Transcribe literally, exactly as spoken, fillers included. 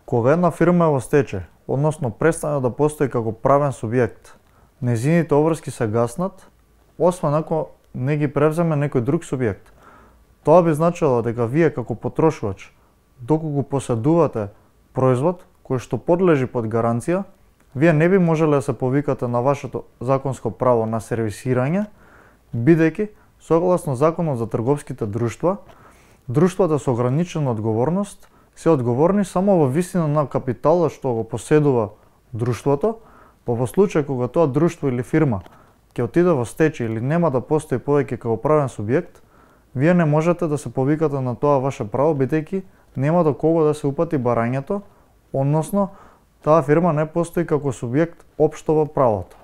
Кога една фирма е во стечај, односно престане да постои како правен субјект, нејзините обврски се гаснат, освен ако не ги превземе некој друг субјект. Тоа би значило дека вие како потрошувач, доколку поседувате производ кој што подлежи под гаранција, вие не би можеле да се повикате на вашето законско право на сервисирање, бидејќи согласно Законот за трговските друштва, друштвата со ограничена одговорност се одговорни само во висина на капиталот што го поседува друштвото, па во случај кога тоа друштво или фирма ќе отиде во стечај или нема да постои повеќе како правен субјект, вие не можете да се повикате на тоа ваше право, бидејќи нема до кого да се упати барањето, односно таа фирма не постои како субјект општо во правото.